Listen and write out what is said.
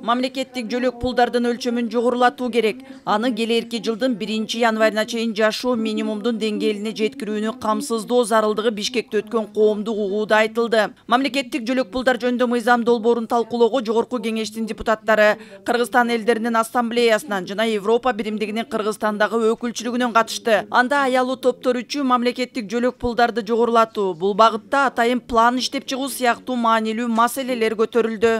Мамлекеттик жөлөк пулдардын өлчөмүн жогорулатуу керек. Аны келерки жылдын 1-январына чейин жашоо минимумдун деңгээлине жеткирүүнү камсыздоо зарылдыгы Бишкекте өткөн коомдук угууда айтылды. Мамлекеттик жөлөк пулдар жөнүндө мыйзам долбоорун талкуулоого Жогорку Кеңештин депутаттары Кыргызстан элдеринин ассамблеясынан жана Европа биримдигинин Кыргызстандагы өкүлчүлүгүнөн катышты. Анда аялуу топтор үчүн мамлекеттик жөлөк пулдарды жогорулатуу, бул багытта атайын план иштеп чыгуу сыяктуу маанилүү маселелер көтөрүлдү.